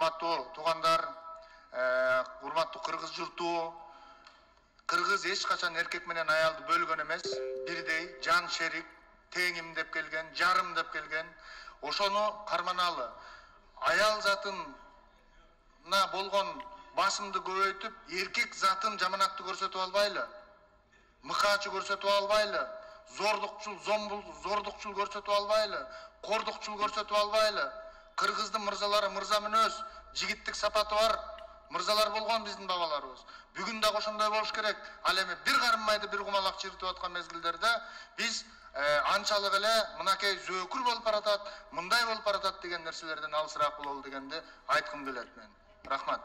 урматтуу туугандар, урматтуу кыргыз журту. Кыргыз эч качан эркек менен аялды бөлгөн эмес, бирдей, жан шерик, теңим деп келген, жарым деп келген. Ошону карманалы. Аял затына болгон басымды көбөйтүп, эркек затын жаманатты көрсөтүп албайлы. Мыкаачы көрсөтүп албайлы. Зордукчул көрсөтүп албайлы. Кордукчул көрсөтүп албайлы. Кыргыздын мырзалары мырза мүнөз, жигиттик сапаты бар мырзалар болгон биздин бабаларыбыз. Бүгүн дагы ошондой болуш керек. Ал эми бир карым майды бир кумалак чиритип аткан мезгилдерде биз анчалык эле мынакей зөөкүр болуп баратат, мындай болуп баратат деген нерселерден алысыраак бололу дегенди айткым келет мен. Рахмат.